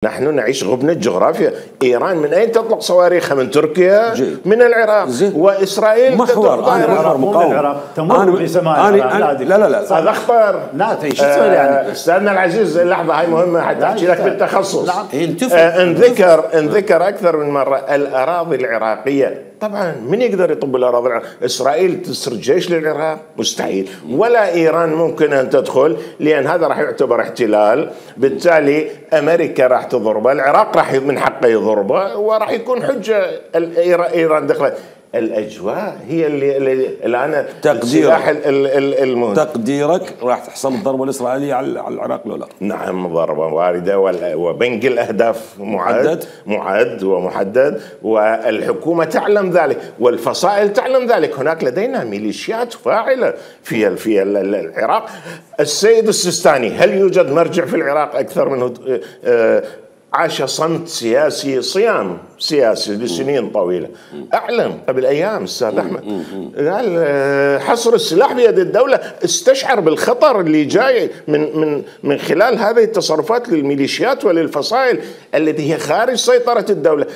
نحن نعيش غبنة جغرافيا. إيران من أين تطلق صواريخها؟ من تركيا، من العراق، وإسرائيل محور. أنا محور مقاوم تمر بسماء العراق. لا هذا أخطر. لا شو تسوي يعني؟ أستاذنا العزيز، اللحظة هاي مهمة حتى أحكي لك بالتخصص. إن ذكر أكثر من مرة الأراضي العراقية. طبعا من يقدر يطب الأراضي العراقية؟ إسرائيل تسرج جيش للعراق؟ مستحيل. ولا إيران ممكن أن تدخل، لأن هذا راح يعتبر احتلال. بالتالي أمريكا راح تضربه، العراق راح من حقه يضربه، وراح يكون حجة إيران دخلت. الأجواء هي اللي الآن السلاح المهم. تقديرك راح تحصل الضربة الإسرائيلية على العراق ولا لا؟ نعم، ضربة واردة، وبنك الأهداف معد ومحدد، والحكومة تعلم ذلك والفصائل تعلم ذلك. هناك لدينا ميليشيات فاعلة في العراق. السيد السيستاني، هل يوجد مرجع في العراق أكثر منه؟ عاش صمت سياسي، صيام سياسي لسنين طويلة. أعلم قبل أيام أستاذ أحمد قال حصر السلاح بيد الدولة، استشعر بالخطر اللي جاي من خلال هذه التصرفات للميليشيات وللفصائل التي هي خارج سيطرة الدولة.